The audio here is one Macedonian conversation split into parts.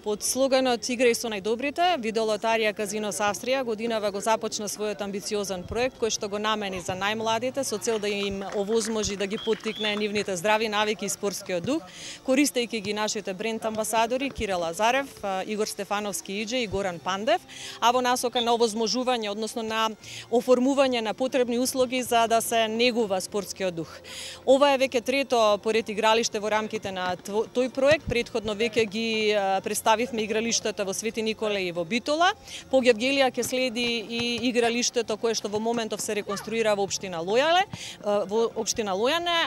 Под слоганот "Играј со најдобрите", Видеолотарија Казинос Австрија годинава го започна својот амбициозен проект кој што го намени за најмладите со цел да им овозможи да ги поттикне нивните здрави навики и спортскиот дух, користејќи ги нашите бренд амбасадори Кирил Лазарев, Игор Стефановски Иџе и Горан Пандев, а во насока на овозможување, односно на оформување на потребни услуги за да се негува спортскиот дух. Ова е веќе трето поред игралиште во рамките на тој проект. Претходно веќе ги представивме игралиштата во Свети Николе и во Битола. По Гевгелија ќе следи и игралиштето кое што во моментов се реконструира во општина Лојане,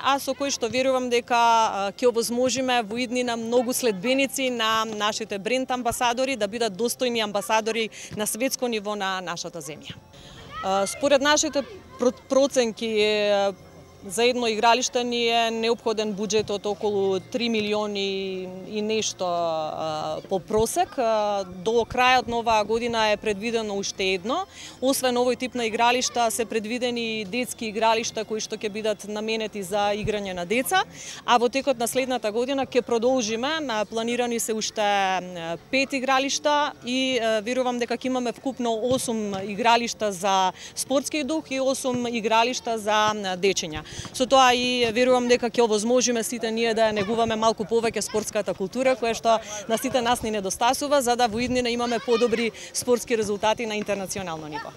а со кој што верувам дека ќе овозможиме во иднина многу следбеници на нашите бренд амбасадори да бидат достојни амбасадори на светско ниво на нашата земја. Според нашите проценки за едно игралиште ни е неопходен буџет од околу 3 милиони и нешто по просек. До крајот на оваа година е предвидено уште едно. Освен овој тип на игралишта се предвидени и детски игралишта кои што ќе бидат наменети за играње на деца, а во текот на следната година ќе продолжиме. Планирани се уште 5 игралишта и верувам дека ќе имаме вкупно 8 игралишта за спортски дух и 8 игралишта за дечиња. Со тоа и верувам дека ќе овозможиме сите ние да ја негуваме малку повеќе спортската култура, која што на сите нас ни недостасува, за да во иднина имаме подобри спортски резултати на интернационално ниво.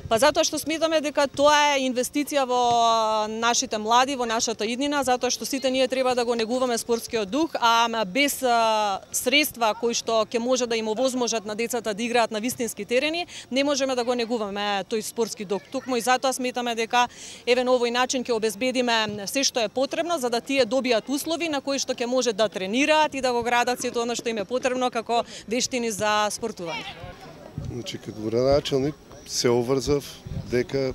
Па затоа што сметаме дека тоа е инвестиција во нашите млади, во нашата иднина, затоа што сите ние треба да го негуваме спортскиот дух, а без средства кои што ќе може да им овозможат на децата да играат на вистински терени, не можеме да го негуваме тој спортски дух. Токму и затоа сметаме дека еве на овој начин ќе обезбедиме се што е потребно за да тие добијат услови на кои што ќе може да тренираат и да го градат сето она што им е потребно како вештини за спортување. Значи, како градоначалник се обврзав дека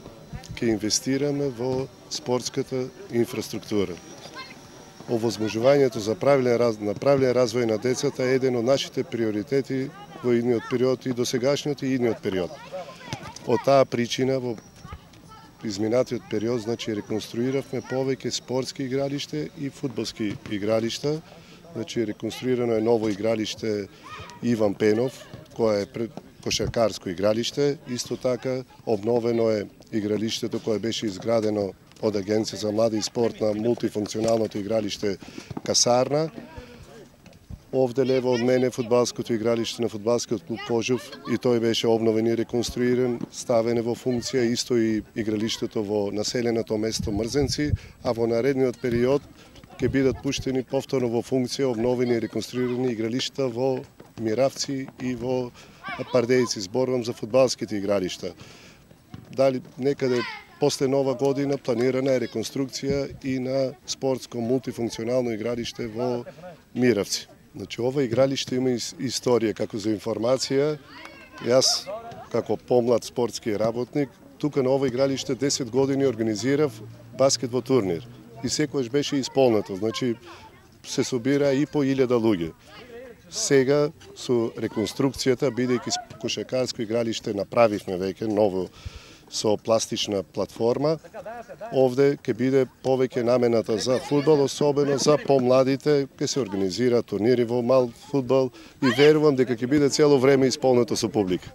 ќе инвестираме во спортската инфраструктура. Овозможувањето за правилен развој на децата е еден од нашите приоритети во идниот период и досегашниот и идниот период. Од таа причина во изминатиот период, значи, реконструиравме повеќе спортски игралиште и фудбалски игралишта. Значи, реконструирано е ново игралиште Иван Пенов, кое е кошаркарско игралиште. Исто така обновено е игралиштето кое беше изградено од Агенција за млади и спорт на мултифункционалното игралиште Касарна. Овде лево од мене фудбалското игралиште на фудбалскиот клуб Кожув, и тој беше обновен и реконструиран, ставен во функција, исто и игралиштето во населеното место Мрзенци, а во наредниот период ќе бидат пуштени повторно во функција обновени и реконструирани игралишта во Миравци и во Пардејци. Зборувам за фудбалските игралишта. Дали некаде после нова година планирана е реконструкција и на спортско мултифункционално игралиште во Миравци. Значи, ова игралиште има историја. Како за информација, јас како помлад спортски работник, тука на ова игралиште 10 години организирав баскетбол турнир и секогаш беше исполнето. Значи, се собира и по 1000 луѓе. Сега со реконструкцијата, бидејќи кошаркарско игралиште направивме веќе ново со пластична платформа, овде ќе биде повеќе намената за фудбал, особено за помладите, ќе се организира турнири во мал фудбал и верувам дека ќе биде цело време исполнето со публика.